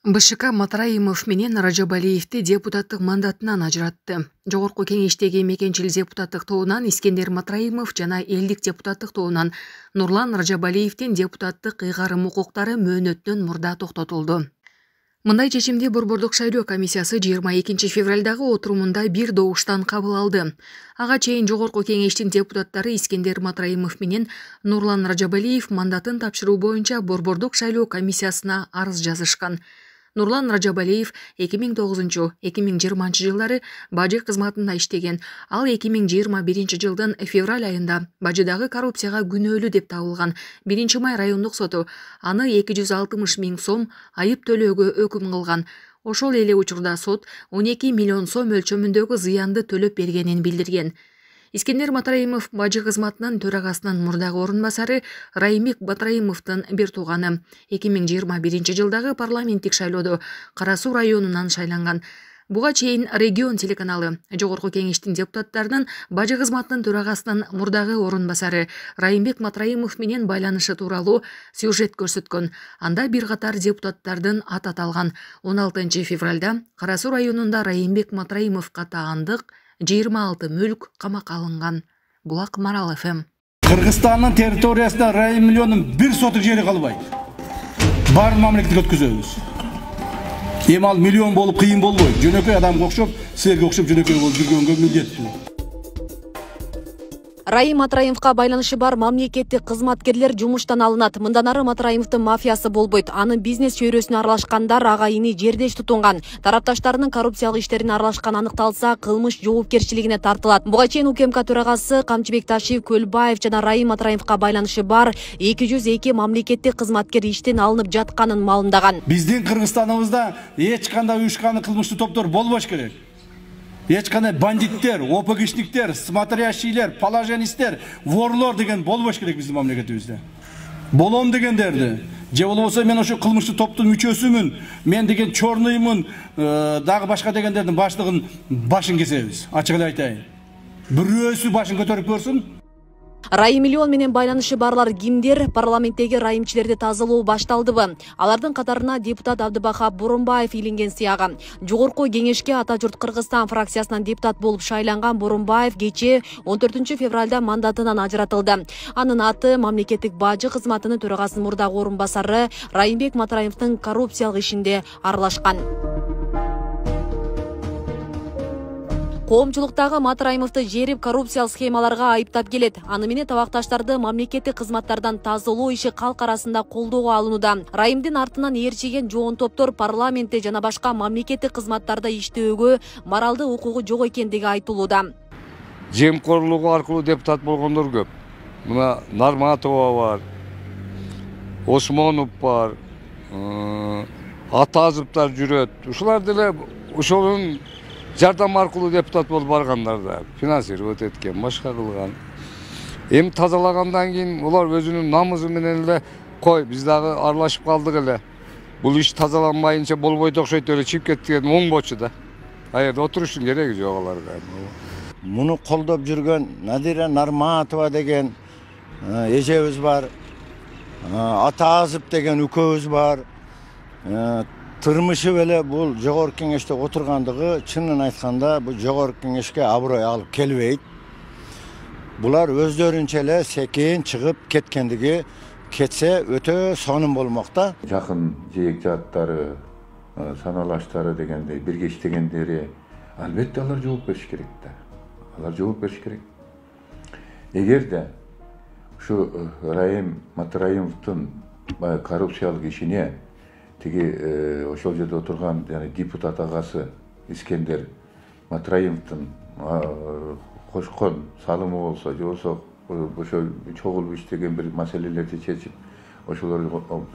БШК Матраимов менен Ражабалиевди депутаттык мандатынан ажыратты. Жогорку кеңештеги мекенчил депутаттык тобунан Искендер Матраимов жана элдик депутаттык тобунан Нурлан Ражабалиевдин депутаттык ыйгарым укуктары мөөнөттөн мурда токтотулду. Мындай чечимди Борбордук шайлоо комиссиясы 22 февралдагы отурумунда бир добуштан кабыл алды. Ага чейин жогорку кеңештин депутаттары Искендер Матраимов менен Нурлан Ражабалиев мандатын тапшыруу боюнча Борбордук шайлоо комиссиясына арыз жазышкан. Нурлан Ражабалиев 2009-2020 жылдары бажы кызматында иштеген. Ал 2021 жылдын февраль айында бажыдагы коррупцияга күнөөлүү деп табылган. 1-май райондук соту аны 260 000 сом айып төлөөгө өкүм кылган. Ошол эле учурда сот 12 миллион сом өлчөмүндөгү зыянды төлөп бергенин билдирген. Искендер Матраимов бажы кызматынын төрагасынын мурдагы орун басары Райымбек Матраимовдун бир тууганы. 2021 жылдагы парламенттик шайлоодо Кара Суу районунан шайланган. Буга чейин Регион телеканалы жогорку кеңештин депутаттарынын бажы кызматынын төрагасынын мурдагы орун басары Райымбек Матраимов менен байланышы тууралуу сюжет көрсөткөн. Анда бир катар депутаттардын аты аталган. 16 февралда Кара Суу районунда Райымбек Матраимовго таандык 26 мүлк камакка алынган. Булак Марал ФМ. Кыргызстандын территориясында Райым миллионун бир сотук жери калбайт. Баарын мамлекетке өткөзөбүз. Эми ал миллион болуп кыйын болбойт. Жөнөкөй адамга окшоп, силерге окшоп жөнөкөй болуп жүргөнгө милдеттүү. Райым Матраимовго байланышы бар мамлекеттик кызматкерлер жумуштан алынат. Мындан ары Матраимовдун мафиясы болбойт. Анын бизнес чөйрөсүнө аралашкандар ага ини жердеш тутунган. Тарапташтарынын коррупциялык иштерине аралашканы аныкталса, кылмыш жоопкерчилигине тартылат. Буга чейин УКМК төрагасы Камчыбек Ташиев Көлбаев жана Райым Матраимовго байланышы бар 202 мамлекеттик кызматкер иштен алынып жатканын маалымдаган. Биздин Кыргызстаныбызда эч кандай уюшкан кылмыштуу топтор болбош керек. Эч кандай бандиттер, ОПГшниктер, смотрящийлер, положенистер, ворлор деген болбош керек биздин мамлекетибизде. Болом дегендерди, же болбосо мен ошо кылмыштуу топтун мүчөсүмүн, мен деген чорнуймун, дагы башка дегендердин баштыгын башын кесебиз. Ачык эле айтайын. Бирөөсү башын көтөрүп көрсүн. Райым миллион менен байланышы барлар кимдер? Парламенттеги райымчилерди тазалоо башталдыбы? Алардын катарына депутат Абдыбахап Боронбаев илинген сыягы. Жогорку кеңешке Ата журт Кыргызстан фракциясынан депутат болуп шайланган Боронбаев кечээ 14 февралда мандатынан ажыратылды. Анын аты мамлекеттик бажы кызматынын төрагасынын мурдагы орун басары Райымбек Матраимовдун коррупциялык ишинде аралашкан. Коомчулуктагы Матраимовду жерип коррупциялык схемаларга айыптап келет. Аны менен табакташтарды мамлекеттик кызматтардан тазалоо иши калк арасында колдоого алынууда. Райымдын артынан ээрчиген жоон топтор парламентте жана башка мамлекеттик кызматтарда иштөөгө моралдык укугу жок экендиги айтылууда. Жемкорлугу аркылуу депутат болгондор көп. Мына Нарматова бар, Осмонов бар, Атазовдор жүрөт. Ушулар деле ошонун жардам аркылуу депутат болуп баргандар да, финансировать эткен, башка кылган. Эми тазалагандан кийин улар өзүнүн намызы менен эле кой, биз дагы аралашып калдык эле. Бул иш тазаланбайынча болбойт окшойт эле чыгып кеткен оңбочу да. Аерде отуруштун кереги жок аларга. Муну колдоп жүргөн Надира Нарматова деген эжебиз бар. Атазып деген үкөбүз бар. Тырмышы беле бул жогорку кеңеште отургандыгы чынын айтканда бул жогорку кеңешке аброй алып келбейт. Булар өздөрүнчө эле секин чыгып кеткендиги кетсе өтө сонун болмокта. Жакын жээк жааттары, саналаштары дегендей бирге иштегендери албетте алар жооп бериш керек да. Алар жооп бериш керек. Эгерде ушу Райым Матраимовдун коррупциялык ишине тиги ошол жерде отурган депутат агасы Искендер Матраимовдун кошкон салымы болсо, же болсо ошо чогулуп иштеген бир маселелерди чечип, ошолор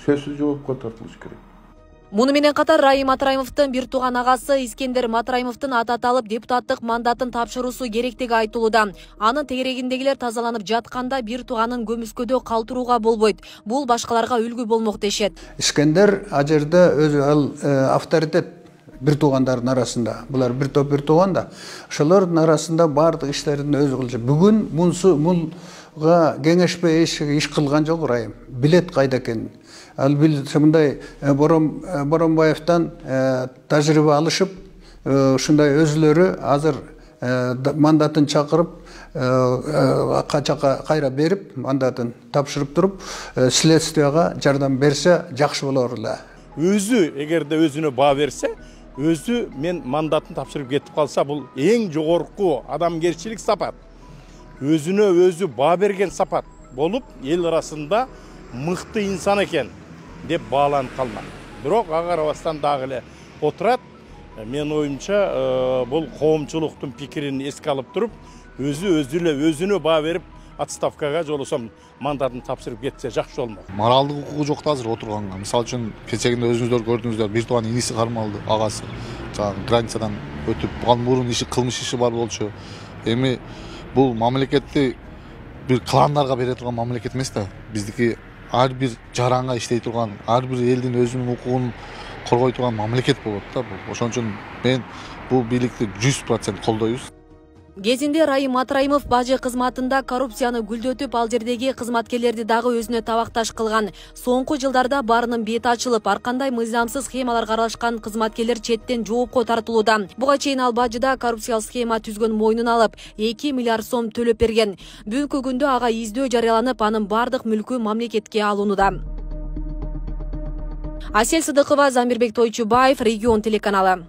сөзсүз жоопко тартылыш керек. Муну менен катар Райым Матраимовдун бир тууган агасы Искендер Матраимовдун аты аталып депутаттык мандатын тапшыруусу керектиги айтылууда. Анын тегерегиндегилер тазаланып жатканда бир тууганын көмүскөдө калтырууга болбойт. Бул башкаларга үлгү болмок дешет. Искендер ажерде өзү авторитет бир туугандардын арасында. Булар бир топ бир тууган да. Ошолордун арасында бардык иштерин өзү кылчу. Бүгүн мунсу кеңешпей иш кылган жок Райым. Билет кайда экенин. Ал мындай Боронбаевден тажрыйба алышып, ушундай өзүлөрү азыр мандатын чакырып, кайра берип, мандатын тапшырып туруп, следствияга жардам берсе жакшы болор эле. Өзү эгерде өзүнө баа берсе, өзү мен мандатын тапшырып кетип калса, бул эң жогорку адамгерчилик сапат. Өзүнө өзү баа берген сапат болуп, эл арасында мыкты инсан экен деп бааланып калмак. Бирок ага карабастан дагы эле отурат. Мен оюмча бул коомчулуктун пикирин эске алып туруп, өзүнө баа берип, отставкага жолосом мандатын тапшырып кетсе жакшы болмок. Моралдык укугу жок да азыр отурганга. Мисалы үчүн кечегинде өзүңүздөр көрдүңүздөр, бир тууган иниси кармалды, агасы. Жана границадан өтүп, буга мурун кылмыш иши бар болчу. Эми бул мамлекетти бир кландарга бере турган мамлекет эмес да. Биздики ар бир жаранга иштей турган, ар бир элдин өзүнүн укугун коргой турган мамлекет болот да бул. Ошон үчүн мен бул бийликти 100% колдойбуз. Кезинде Райым Матраимов бажы кызматында коррупцияны гүлдөтүп, ал жердеги кызматкерлерди дагы өзүнө табакташ кылган. Соңку жылдарда барынын бети ачылып, ар кандай мыйзамсыз схемаларга аралашкан кызматкерлер четтен жоопко тартылууда. Буга чейин ал бажыда коррупциялык схема түзгөн мойнун алып, 2 миллиард сом төлөп берген. Бүгүнкү күндө ага издөө жарыяланып, анын бардык мүлкү мамлекетке алынууда. Асель Сыдыкова, Замирбек Тойчубаев, Регион телеканалы.